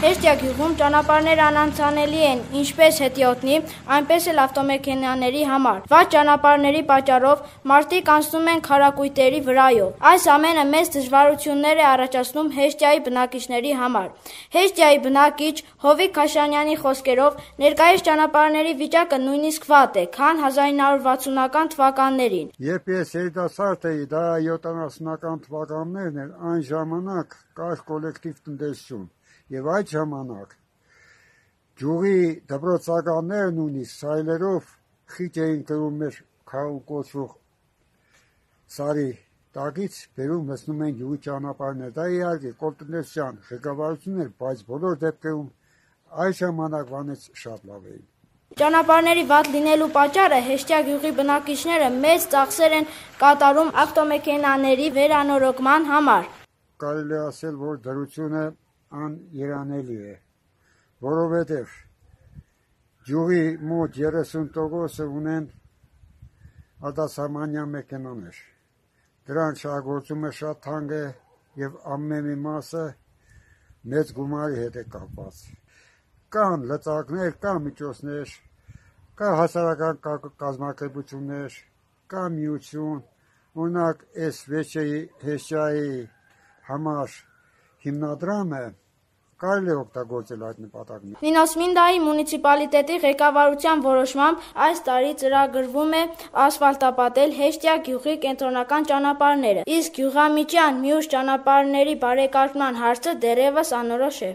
Հեշտյա գյուղում ճանապարհները անանցանելի են ինչպես հետիոտնի, այնպես էլ ավտոմեքենաների համար։ Վատ ճանապարհների պատճառով մարդիկ անցնում են քարակույտերի վրայով։ Այս ամենը մեծ դժվարություններ է առաջացնում Հեշտյայի բնակիչների համար։ Հեշտյայի բնակիչ Հովիկ Քաշանյանի խոսքերով ներկայիս ճանապարհների վիճակը նույնիսկ վատ է, քան 1960-ական թվականներին։ Երբ ես երիտասարդ էի, դա 70-ական թվականներն էր, այն ժամանակ կար կոլեկտիվ տնտեսություն։ Եվ այդ ժամանակ գյուղի դպրոցականները նույնիսկ սայլերով խիճ էին կրում մեր քարու կոչվող սարի տակից, բերում լցնում են գյուղի ճանապարհներ։ Դա իհարկե կոլտնտեսության ղեկավարությունն էր, բայց բոլոր դեպքերում այդ ժամանակվանից շատ լավ էին։ Ճանապարհների վատ լինելու պատճառը Հեշտյա գյուղի բնակիչները մեծ ծախսեր են կատարում ավտոմեքենաների վերանորոգման համար։ Կարելի է ասել, որ դրությունը աներանելի է, որովհետև գյուղի մոտ 30% ունեն արտասահմանյան մեքենաներ։ Դրանց շահագործումը շատ թանկ է եւ ամեն մի մասը մեծ գումարի հետ է կապված։ Կան լծակներ, կան միջոցներ, կա հասարակական կազմակերպություններ, կա միություն, օրինակ այս Հեշտյայի համար հիմնադրամը կարելի է օգտագործել այդ նպատակին։ Նինոս Մինդայի մունիցիպալիտետի ղեկավարության որոշմամբ այս տարի ծրագրվում է ասֆալտապատել Հեշտյա գյուղի կենտրոնական ճանապարհները, իսկ գյուղամիջյան մյուս ճանապարհների բարեկարգման հարցը դեռևս անորոշ է։